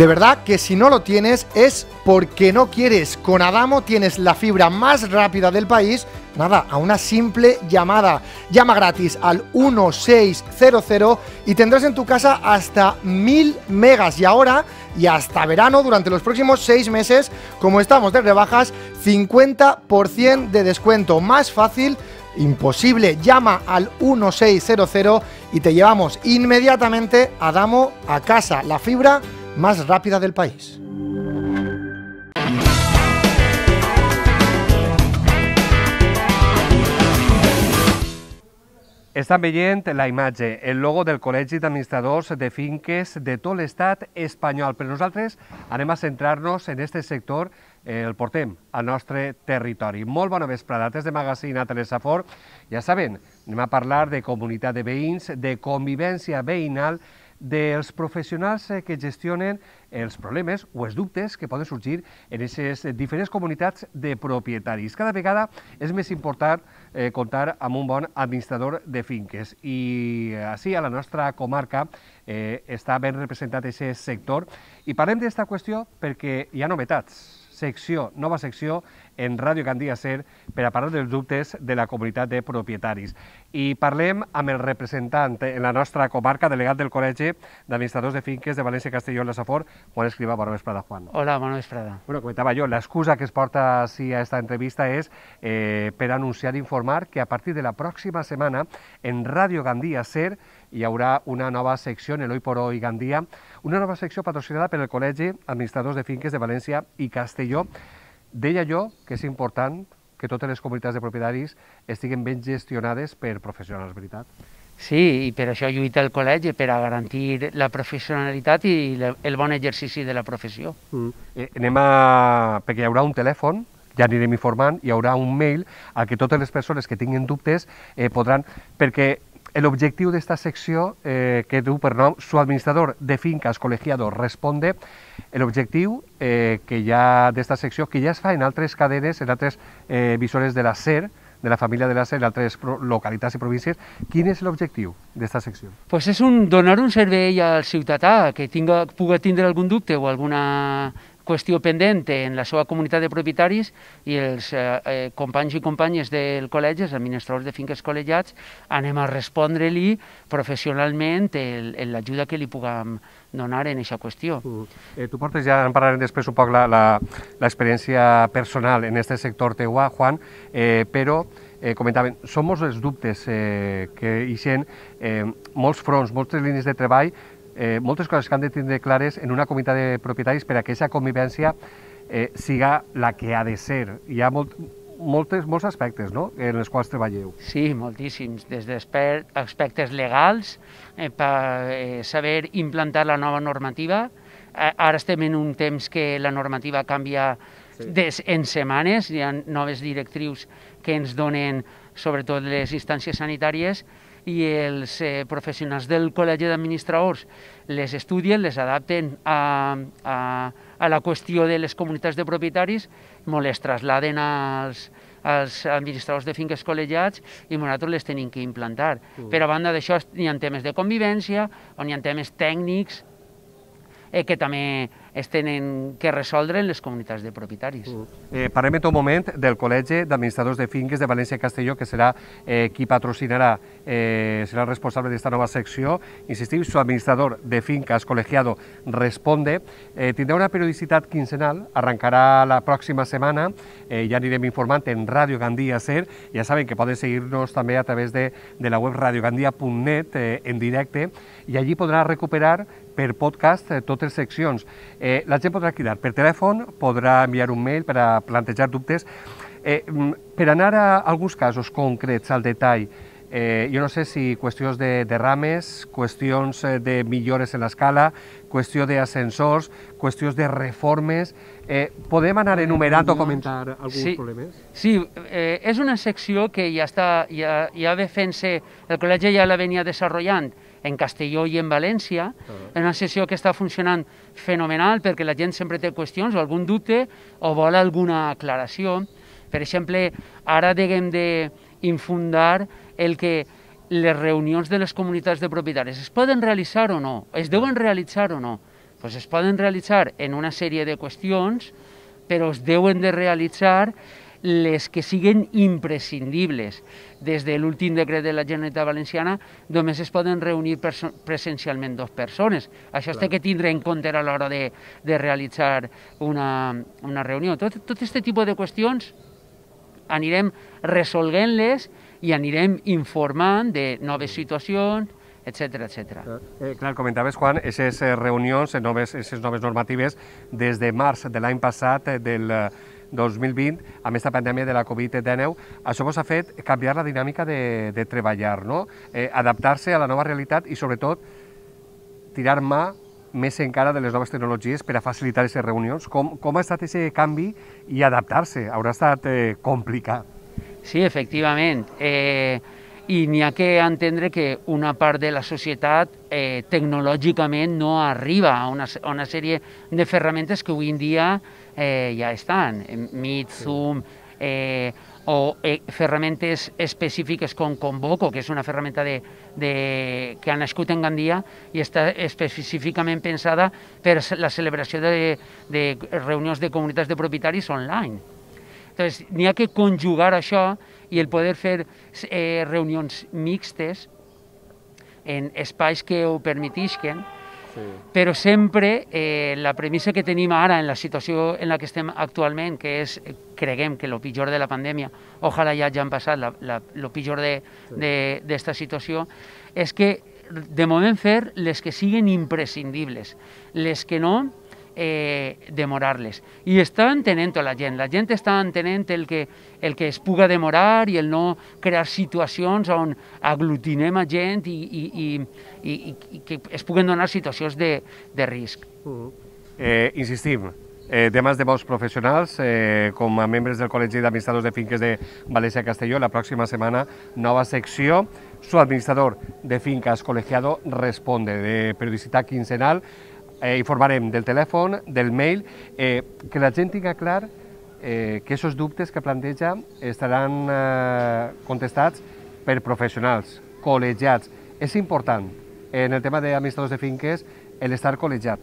De verdad que si no lo tienes es porque no quieres. Con Adamo tienes la fibra más rápida del país, nada, a una simple llamada. Llama gratis al 1600 y tendrás en tu casa hasta 1000 megas. Y ahora, y hasta verano, durante los próximos 6 meses, como estamos de rebajas, 50% de descuento. Más fácil imposible. Llama al 1600 y te llevamos inmediatamente Adamo a casa. La fibra más rápida del país. Estan veient la imatge, el logo del Col·legi d'Administradors de Finques de tot l'estat espanyol, però nosaltres anem a centrar-nos en aquest sector, el portem al nostre territori. Molt bona vesprada, des de Magazín a Telesafor. Ja saben, anem a parlar de comunitat de veïns, de convivència veïnal, dels professionals que gestionen els problemes o els dubtes que poden sorgir en aquestes diferents comunitats de propietaris. Cada vegada és més important comptar amb un bon administrador de finques i així a la nostra comarca està ben representat aquest sector i parlem d'aquesta qüestió perquè hi ha novetats. Nova secció en Ràdio Gandia Ser per a parlar dels dubtes de la comunitat de propietaris. I parlem amb el representant en la nostra comarca, delegat del Col·legi d'Administradors de Finques de València, Castelló i la Safor, Juan Escrivá. Bona vesprada, Juan. Hola, bona vesprada. Bueno, comentava jo, l'excusa que es porta així a esta entrevista és per anunciar i informar que a partir de la pròxima setmana en Ràdio Gandia Ser hi haurà una nova secció en el Hoy por Hoy Gandia, una nova secció patrocinada per el Col·legi d'Administradors de Finques de València i Castelló. Deia jo que és important que totes les comunitats de propietaris estiguen ben gestionades per professionals, veritat? Sí, i per això lluita el col·legi, per a garantir la professionalitat i el bon exercici de la professió. Perquè hi haurà un telèfon, ja anirem informant, hi haurà un mail al que totes les persones que tinguin dubtes podran... Perquè l'objectiu d'esta secció que du per nom Su administrador de fincas colegiado responde, l'objectiu que hi ha d'esta secció, que ja es fa en altres cadenes, en altres emissores de la SER, de la família de la SER, en altres localitats i províncies. Quin és l'objectiu d'esta secció? Pues és donar un servei al ciutadà que pugui tindre algun dubte o alguna qüestió pendent en la seva comunitat de propietaris i els companys i companyes del col·legi, els administradors de finques col·legiats, anem a respondre-li professionalment en l'ajuda que li puguem donar en aquesta qüestió. Tu portes, ja en parlarem després un poc l'experiència personal en aquest sector teua, Juan, però comentaven, són molts els dubtes que ixen, molts fronts, moltes línies de treball, moltes coses que han de tindre clares en una comunitat de propietaris per a que aquesta convivència siga la que ha de ser. Hi ha molts aspectes en els quals treballeu. Sí, moltíssims, des d'aspectes legals, per saber implantar la nova normativa. Ara estem en un temps que la normativa canvia en setmanes, hi ha noves directrius que ens donen sobretot les instàncies sanitàries i els professionals del Col·legi d'Administradors les estudien, les adapten a la qüestió de les comunitats de propietaris, les trasladen als administradors de finques col·legiats i nosaltres les tenim que implantar. Per a banda d'això hi ha temes de convivència, on hi ha temes tècnics que també es tenen que resoldre en les comunitats de propietaris. Parlem en tot moment del Col·legi d'Administradors de Finques de València i Castelló, que serà qui patrocinarà, serà el responsable d'esta nova secció. Insistim, su administrador de fincas colegiado responde. Tindrà una periodicitat quinzenal, arrencarà la pròxima setmana, ja anirem informant en Ràdio Gandia Ser. Ja saben que poden seguir-nos també a través de la web radiogandia.net en directe i allí podrà recuperar per podcast totes les seccions. La gent podrà cridar per telèfon, podrà enviar un mail per a plantejar dubtes. Per anar a alguns casos concrets al detall, jo no sé si qüestions de derrames, qüestions de millores en l'escala, qüestió d'ascensors, qüestions de reformes... Podem anar enumerant o comentar alguns problemes? Sí, és una secció que ja ve fent-se, el col·legi ja la venia desenvolupant en Castelló i en València, és una secció que està funcionant fenomenal perquè la gent sempre té qüestions o algun dubte o vol alguna aclaració. Per exemple, ara haguem d'infundar el que les reunions de les comunitats de propietaris es poden realitzar o no, es deuen realitzar o no. Pues es poden realitzar en una sèrie de qüestions, però es deuen de realitzar les que siguen imprescindibles. Des de l'últim decret de la Generalitat Valenciana només es poden reunir presencialment 2 persones. Això es té que tindre en compte a l'hora de realitzar una reunió. Tot aquest tipus de qüestions anirem resolguent-les i anirem informant de noves situacions, etcètera, etcètera. Clar, comentaves, Juan, aquestes reunions, aquestes noves normatives, des de març de l'any passat, del 2020, amb aquesta pandèmia de la Covid-19, això vos ha fet canviar la dinàmica de treballar, no? Adaptar-se a la nova realitat i, sobretot, tirar mà més encara de les noves tecnologies per a facilitar aquestes reunions. Com ha estat aquest canvi i adaptar-se? Haurà estat complicat. Sí, efectivament. I n'hi ha que entendre que una part de la societat tecnològicament no arriba a una sèrie de ferramentes que avui en dia ja estan. Meet, Zoom, o ferramentes específiques com Convoco, que és una ferramenta que ha nascut en Gandia i està específicament pensada per la celebració de reunions de comunitats de propietaris online. Entonces, n'hi ha que conjugar això i el poder fer reunions mixtes en espais que ho permetisquen, però sempre la premissa que tenim ara en la situació en la que estem actualment, que és, creguem que el pitjor de la pandèmia, ojalà ja hagin passat el pitjor d'esta situació, és que de moment fer les que siguin imprescindibles, les que no, demorar-les. I està entenent la gent està entenent el que es puga demorar i el no crear situacions on aglutinem a gent i que es puguen donar situacions de risc. Insistim, temes de bons professionals, com a membres del Col·legi d'Administradors de Finques de València Castelló, la pròxima setmana, nova secció, su administrador de fincas colegiado responde, de periodicitat quincenal. Informarem del telèfon, del mail, que la gent tinga clar que aquests dubtes que planteja estaran contestats per professionals, col·legiats. És important, en el tema d'administradors de finques, l'estar col·legiat.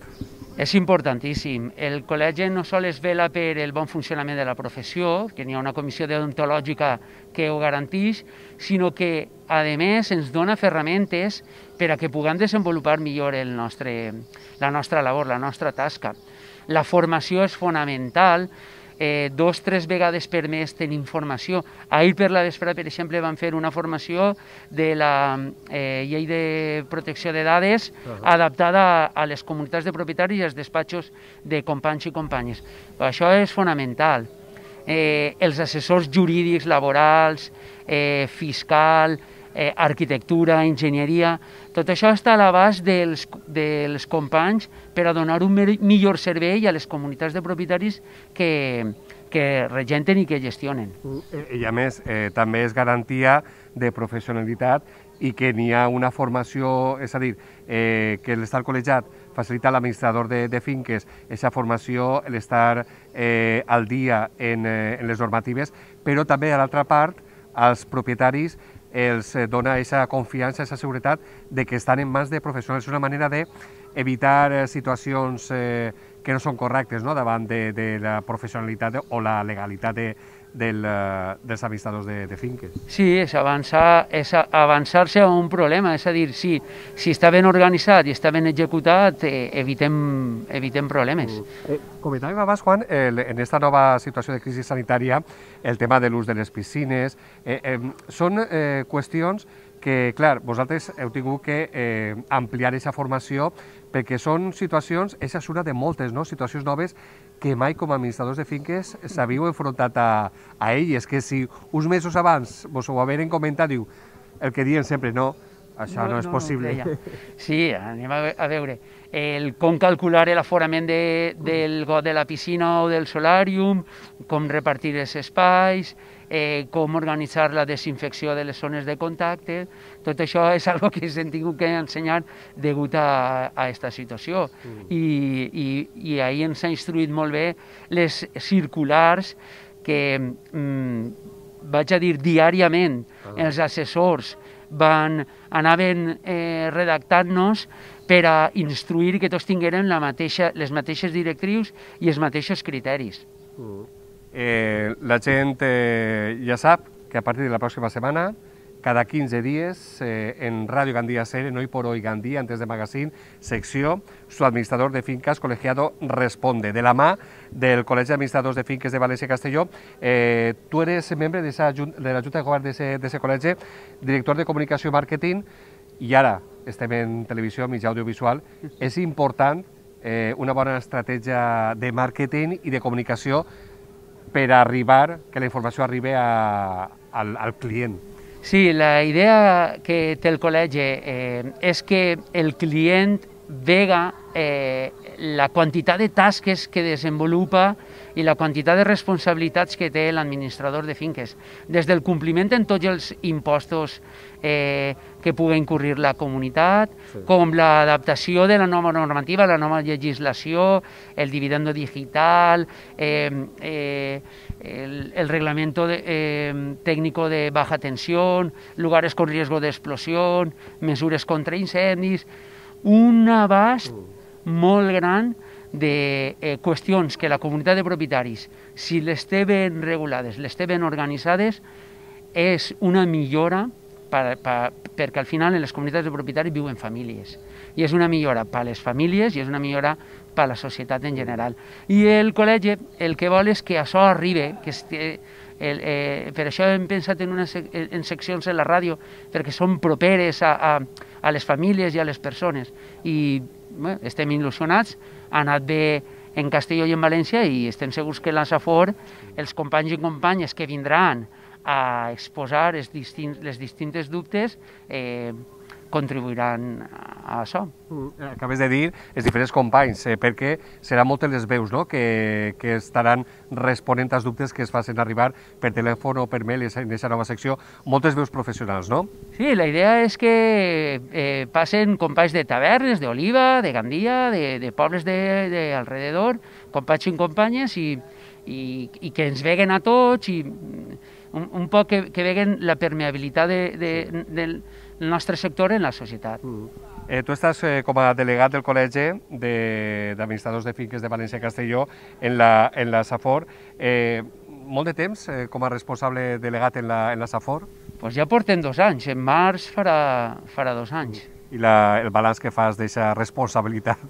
És importantíssim. El col·legi no sols vela per el bon funcionament de la professió, que n'hi ha una comissió deontològica que ho garanteix, sinó que, a més, ens dona ferramentes per a que puguem desenvolupar millor la nostra labor, la nostra tasca. La formació és fonamental. 2 o 3 vegades per mes tenim formació. Ahir per la vesprada, per exemple, vam fer una formació de la llei de protecció de dades adaptada a les comunitats de propietaris i als despatxos de companys i companyes. Això és fonamental. Els assessors jurídics, laborals, fiscal, arquitectura, enginyeria, tot això està a l'abast dels companys per a donar un millor servei a les comunitats de propietaris que regenten i que gestionen. I a més, també és garantia de professionalitat i que n'hi ha una formació, és a dir, que l'estar col·legiat facilita a l'administrador de finques aquesta formació, l'estar al dia en les normatives, però també, a l'altra part, als propietaris els dona aquesta confiança, aquesta seguretat de que estan en mans de professionals. És una manera d'evitar situacions que no són correctes davant de la professionalitat o la legalitat dels administradors de finques. Sí, és avançar-se a un problema, és a dir, si està ben organitzat i està ben executat, evitem problemes. Comentàvem abans, Juan, en aquesta nova situació de crisi sanitària, el tema de l'ús de les piscines, són qüestions que, clar, vosaltres heu tingut que ampliar aquesta formació perquè són situacions, aquesta és una de moltes, situacions noves que mai com a administradors de finques s'havíeu enfrontat a elles, que si uns mesos abans vos ho haveren comentat, diu, el que diuen sempre, no, això no és possible. Sí, anem a veure. Com calcular l'aforament del got de la piscina o del solàrium, com repartir els espais, com organitzar la desinfecció de les zones de contacte, tot això és una cosa que s'hem tingut que ensenyar degut a aquesta situació. I ahir ens ha instruït molt bé les circulars que, vaig a dir, diàriament els assessors anaven redactant-nos per a instruir que tots tingueren les mateixes directrius i els mateixos criteris. La gent ja sap que a partir de la pròxima setmana, cada 15 dies, en Radio Gandía SER, en Hoy por Hoy Gandía, antes de Magazine, secció, su administrador de fincas colegiado responde, de la mà del Col·legi d'Administradors de Finques de València i Castelló. Tu eres membre de la Junta de Govern d'aquest col·legi, director de Comunicació i Màrqueting, i ara estem en televisió, mitjà audiovisual. És important una bona estratègia de màrqueting i de comunicació per arribar, que la informació arribi al client. Sí, la idea que té el col·legi és que el client vega la quantitat de tasques que desenvolupa i la quantitat de responsabilitats que té l'administrador de finques, des del compliment en tots els impostos que pugui incurrir la comunitat, com l'adaptació de la nova normativa, la nova legislació, el dividendo digital, el reglamento técnico de baja tensión, lugares con riesgo de explosión, mesures contra incendis, un abast molt gran de qüestions que la comunitat de propietaris, si les té ben regulades, les té ben organitzades, és una millora perquè al final en les comunitats de propietaris viuen famílies i és una millora per a les famílies i és una millora per a la societat en general. I el col·legi el que vol és que això arribi, per això hem pensat en seccions a la ràdio, perquè són properes a les famílies i a les persones. I estem il·lusionats, ha anat bé en Castelló i en València i estem segurs que a la Safor els companys i companyes que vindran a exposar les distintes dubtes contribuiran a això. Acabes de dir els diferents companys, perquè seran moltes les veus que estaran responent als dubtes que es facin arribar per telèfon o per mail en aquesta nova secció, moltes veus professionals, no? Sí, la idea és que passen companys de tavernes, d'Oliva, de Gandia, de pobles d'alrededor, companys i companyes, i que ens veguen a tots i un poc que veguen la permeabilitat del nostre sector en la societat. Tu estàs com a delegat del Col·legi d'Administradors de Finques de València i Castelló en la Safor. Molt de temps com a responsable delegat en la Safor? Doncs ja portem 2 anys, en març farà 2 anys. I el balanç que fas d'aquesta responsabilitat?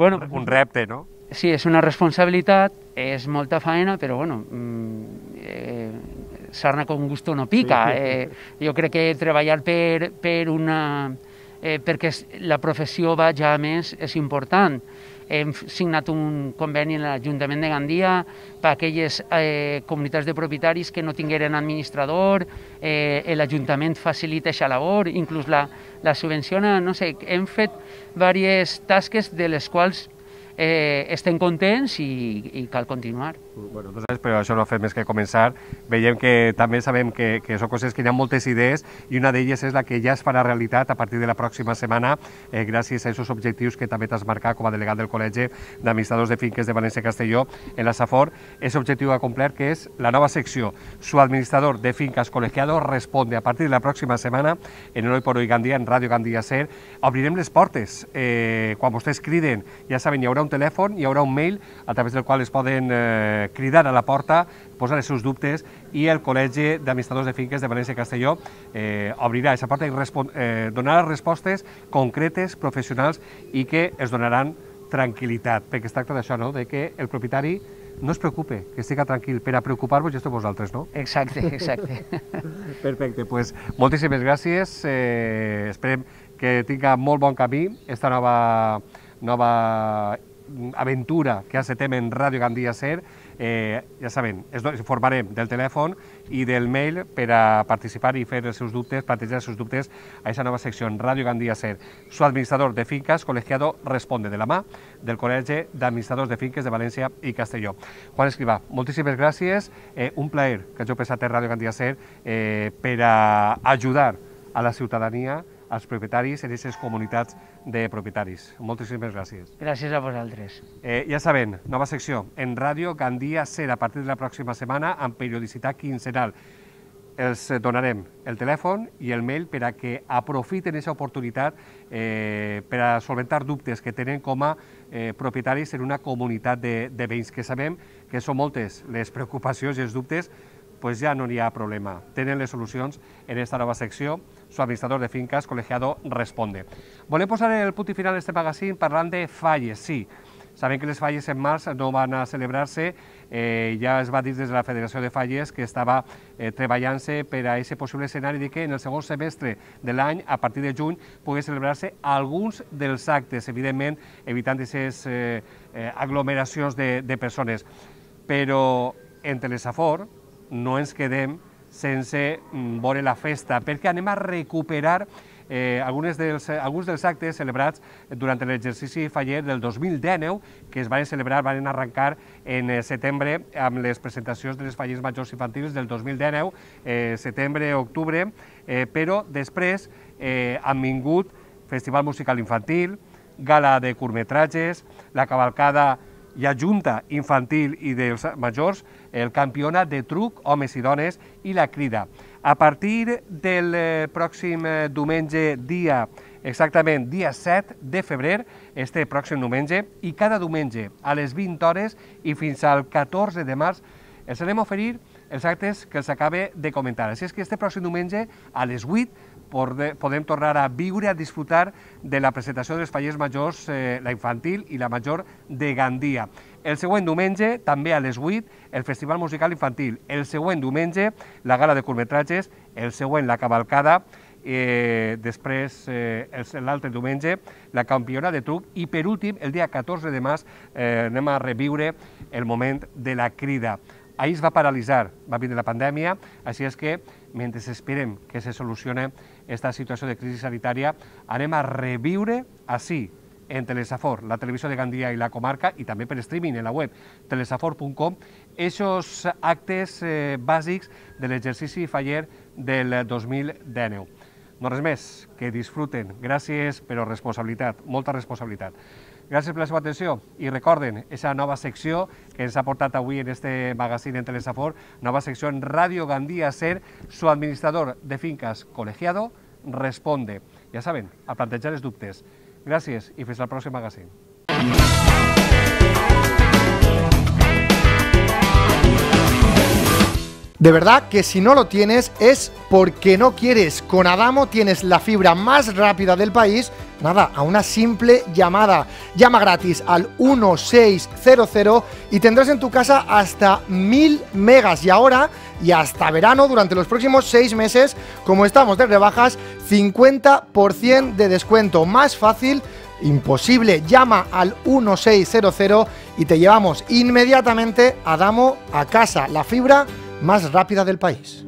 Un repte, no? Sí, és una responsabilitat, és molta feina, però bueno, sarna con gusto no pica. Jo crec que treballar perquè la professió vagi a més és important. Hem signat un conveni en l'Ajuntament de Gandia per a aquelles comunitats de propietaris que no tingueren administrador, l'Ajuntament facilita aquesta labor, inclús la subvenciona, no sé, hem fet diverses tasques de les quals estem contents i cal continuar. Però això no ha fet més que començar. Veiem que també sabem que són coses que hi ha moltes idees i una d'elles és la que ja es farà realitat a partir de la pròxima setmana gràcies a aquests objectius que també t'has marcat com a delegat del Col·legi d'Administradors de Finques de València i Castelló en la Safor. Aquest objectiu a complert que és la nova secció Su administrador de fincas colegiado responde a partir de la pròxima setmana en el Hoy por Hoy Gandía, en Ràdio Gandía SER. Obrirem les portes. Quan vostès criden, ja saben, hi haurà un telèfon, hi haurà un mail a través del qual es poden cridar a la porta, posar els seus dubtes i el Col·legi d'Administradors de Finques de València i Castelló obrirà aquesta porta i donarà respostes concretes, professionals i que es donaran tranquil·litat, perquè es tracta d'això, no? De que el propietari no es preocupe, que estigui tranquil. Per a preocupar-vos ja esteu vosaltres, no? Exacte. Perfecte, doncs moltíssimes gràcies. Esperem que tinga molt bon camí esta nova aventura que encetem en Ràdio Gandía SER. Ja saben, ens informarem del telèfon i del mail per a participar i fer els seus dubtes, plantejar els seus dubtes a aquesta nova secció en Ràdio Gandía SER. Su administrador de fincas colegiado responde, de la mà del Col·legi d'Administradors de Finques de València i Castelló. Juan Escrivà, moltíssimes gràcies. Un plaer que hàgiu passat a Ràdio Gandía SER per a ajudar a la ciutadania, als propietaris en aquestes comunitats de propietaris. Moltíssimes gràcies. Gràcies a vosaltres. Ja saben, nova secció en Ràdio Gandía SER a partir de la pròxima setmana amb periodicitat quinzenal. els donarem el telèfon i el mail per a que aprofiten aquesta oportunitat per a solventar dubtes que tenen com a propietaris en una comunitat de veïns, que sabem que són moltes les preocupacions i els dubtes, pues ja no hi ha problema. Tenen les solucions en aquesta nova secció. Su administrador de fincas, colegiado, responde. Volem posar el punt i final a este magazín parlant de falles, sí. Sabem que les falles en març no van a celebrar-se, ja es va dir des de la Federació de Falles que estava treballant-se per a aquest possible escenari de que en el segon semestre de l'any, a partir de juny, pugui celebrar-se alguns dels actes, evidentment evitant aquestes aglomeracions de persones. Però en Telesafor no ens quedem sense veure la festa, perquè anem a recuperar alguns dels actes celebrats durant l'exercici faller del 2019, que es van celebrar, van arrencar en setembre amb les presentacions de les fallers majors infantils del 2019, setembre, octubre, però després han vingut Festival Musical Infantil, Gala de Curtmetratges, la cavalcada i a Junta Infantil i dels Majors, el Campionat de Truc, Homes i Dones i la Crida. A partir del pròxim diumenge, exactament dia 7 de febrer, este pròxim diumenge, i cada diumenge a les 20 hores i fins al 14 de març, els anem a oferir els actes que els acabe de comentar. Així és que este pròxim diumenge a les 8 podem tornar a viure, a disfrutar de la presentació dels fallers majors, la infantil i la major de Gandia. El següent diumenge, també a les 8, el Festival Musical Infantil. El següent diumenge, la Gala de Curtmetratges. El següent, la cavalcada. Després, l'altre diumenge, la Campionat de Truc. I per últim, el dia 14 de març, anem a reviure el moment de la Crida. Ahir es va paralitzar, va vindre la pandèmia, així és que, mentre esperem que se solucioni aquesta situació de crisi sanitària, anem a reviure així, en Telesafor, la televisió de Gandia i la comarca, i també per streaming en la web telesafor.com, aquests actes bàsics de l'exercici faller del 2019. No res més, que disfruten. Gràcies, però responsabilitat, molta responsabilitat. Gràcies per la seva atenció i recorden aquesta nova secció que ens ha portat avui en este magazín en Telesafor, nova secció en Radio Gandia Ser, su administrador de fincas colegiado responde. Ja saben, a plantejar els dubtes. Gràcies i fins al pròxim magazín. De verdad que si no lo tienes es porque no quieres. Con Adamo tienes la fibra más rápida del país, nada, a una simple llamada. Llama gratis al 1600 y tendrás en tu casa hasta 1000 megas. Y ahora, y hasta verano, durante los próximos 6 meses, como estamos de rebajas, 50% de descuento. Más fácil, imposible. Llama al 1600 y te llevamos inmediatamente Adamo a casa. La fibra más rápida del país.